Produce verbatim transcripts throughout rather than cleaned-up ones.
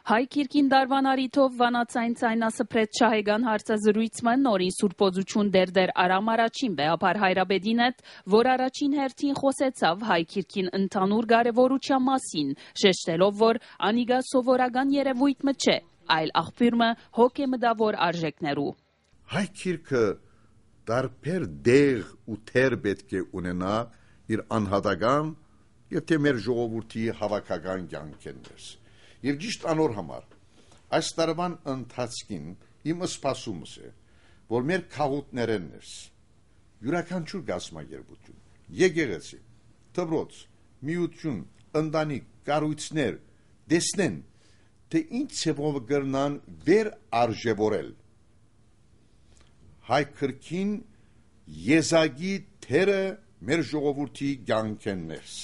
Հայ Քիրքին դարվան արիթով վանացային ցայնասփրեց շահեգան հարցազրույցը նորին սուրբոզություն դերդեր Արամ առաջին վեհապար Հայրաբեդին հետ, որ առաջին հերթին խոսեցավ Հայ Քիրքին ընդհանուր կարևորության մասին, շեշտելով, որ անիգա սովորական երևույթ մը չէ, այլ աղբյուրը հոգեմդավոր արժեքներու։ Հայ Քիրքը դարբեր դեղ ու թեր պետք է ունենա իր անհատական եւ թե մեր ժողովրդի հավաքական կյանքերս։ Եվ ճիշտ անոր համար այս տարվան ընթացքին իմ սպասումս է, որ մեր քաղուտներենս յուրաքանչյուր գազམ-երբություն, եկեղեցի, դպրոց, միություն, ընտանիք, կառույցներ տեսնեն, թե ինչ ցեվով կրնան վեր արժևորել հայ քրքին եզակի թերը մեր ժողովրդի կյանքերս։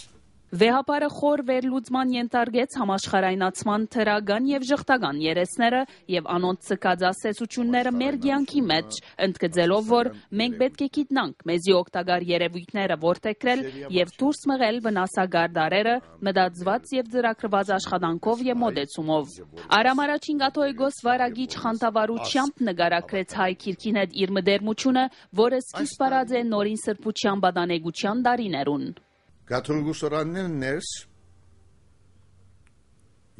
Վեհապարը խոր վերլուծման ենթարկեց համաշխարհայնացման թրական եւ ժխտական երեսները եւ անոնց ցկած ասեցությունները մեր կյանքի մեջ, ընդգծելով, որ մենք պետք է գիտնանք մեզի օգտակար երևույթները ворթեքրել եւ դուրս մղել վնասակար դարերը մտածված եւ ծրագրված աշխատանքով եւ մոդեցումով։ Արամ առաջին կաթողիկոս վարագիչ խանդավառությամբ նկարագրեց Հայ Քիրքին հետ իր մդերմությունը, որը սկիզբ արած է նորին սրբության բադանեգության դարիներուն։ Կաթոլիկոսարաններն ներս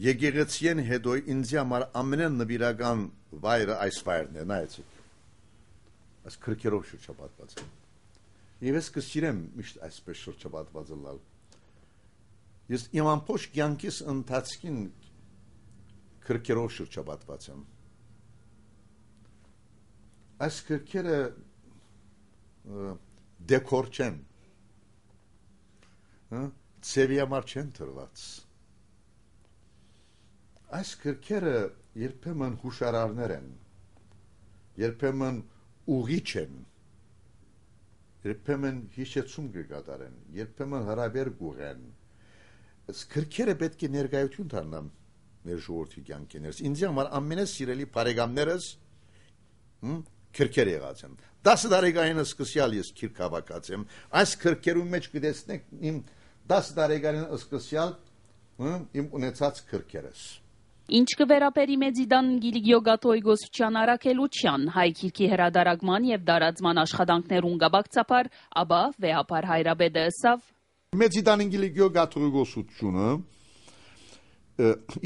եկեղեցին հետո ինձ համար ամենեն նվիրական վայրը այս վայրն է, նայեցիք, այս քրքերով շրջապատված է, և ես կսիրեմ միշտ այսպես շրջապատված լալ, ես իմ ամբողջ կյանքիս ընթացքին քրքերով շրջապատված եմ, այս քրքերը դեկոր չեն, ծևի համար չեն թրված։ Այս քրքերը երբեմն հուշարարներ են, երբեմն ուղիչ են, երբեմն հիշեցում կկատարեն, երբեմն հրաբեր կուղեն։ Այս քրքերը պետք է ներկայություն դառնան մեր ժողովրդի կյանքերս։ Ինձ համար ամենասիրելի բարեկամներս քրքեր եղած են։ Դասը տարեկան սկսյալ ես քիրք հավաքած եմ։ Այս քրքերու մեջ կտեսնեք իմ դասը տարեկան սկսյալ իմ ունեցած քրքերս։ Ինչ կվերապերի Մեծիդան Գիլիգիո կաթողիկոսության առաքելության, Հայ Քիրքի հրադարագման եւ դարածման աշխատանքներուն գաբակցապար, ապա վեհապար Հայրաբեդը ըսավ. Մեծիդան Գիլիգիո կաթողիկոսությունը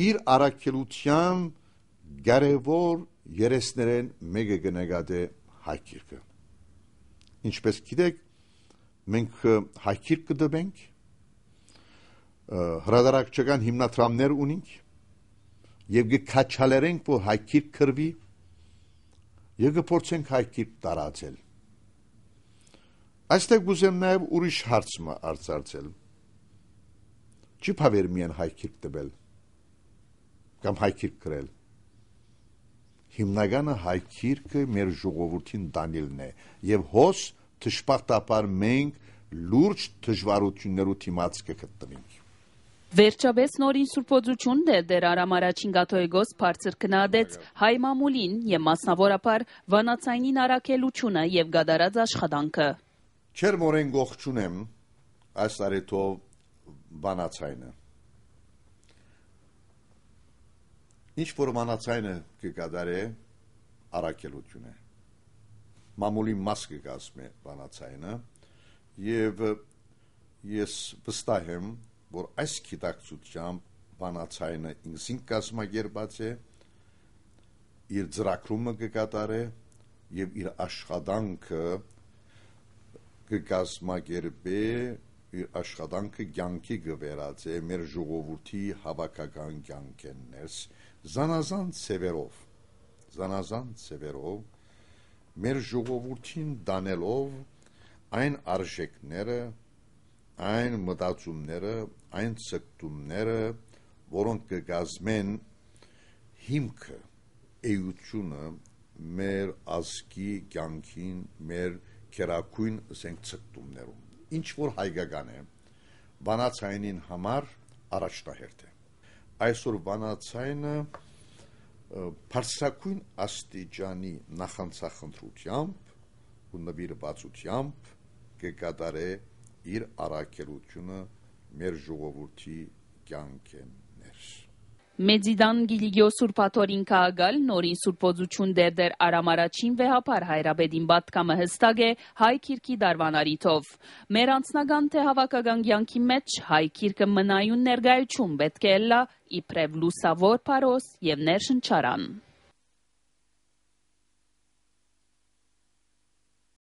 իր առաքելության կարևոր երեսներեն մեկը կնկատե Հայ Քիրքը։ Ինչպես գիտեք, մենք Հայ Քիրք կդվենք, հրադարակչական հիմնադրամներ ունենք եւ կքաչալերենք, որ Հայ Քիրք կրվի եւ կփորձենք Հայ Քիրք տարածել։ Այստեղ կուզեմ նաեւ ուրիշ հարց արձարծել։ Չի բավեր միայն Հայ Քիրք տվել կամ Հայ Քիրք գրել։ Հիմնականը Հայ Քիրքը մեր ժողովրդին դանիլն է եւ հոս դժբախտաբար մենք լուրջ դժվարություններու դիմաց կգտնվենք։ Վերջապես նորին սուրբոզություն դերդեր Արամ առաջին կաթողիկոս բարձր քննադեց հայ մամուլին եւ մասնավորապես վանացայինին առաքելությունը եւ գդարած աշխատանքը։ Չեր մորեն գողջունեմ այս արեթով վանացայինը։ Ինչ որ վանացայինը կգադարե առաքելություն է։ Մամուլի մաս կգազմե վանացայինը եւ ես վստահ եմ, որ այս գիտակցությամբ վանացայինը ինքնին կազմակերպած է, իր ծրագրումը կկատարե եւ իր աշխատանքը կկազմակերպե, իր աշխատանքը կյանքի կվերածե մեր ժողովրդի հավաքական կյանքերս, զանազան ցևերով, զանազան ցևերով մեր ժողովրդին դանելով այն արժեքները, այն մտածումները, այն ցկտումները, որոնք կգազմեն հիմքը, էությունը մեր ազգի կյանքին, մեր քերակույն ցկտումներում։ Ինչ որ հայկական է, վանացայինին համար առաջնահերթ է։ Այսօր վանացայինը բարձրակույն աստիճանի նախանցախնդրությամբ ու նվիրվածությամբ կկատարե իր առաքելությունը մեր ժողովրդի կյանքերս։ Մեծիդան գիլիգյո սուրպաթորին կաղալ, նորին սուրպոզություն դերդեր արամարաչին վեհապար հայրաբեդին բատկամը հստակ է հայ կիրքի դարվանարիթով։ Մեր անցնական թե հավաքական գյանքի մեջ հայ կիրքը մնայուն ներգայություն պետք է էլա իպրև լուսավոր պարոս և ներշնչարան։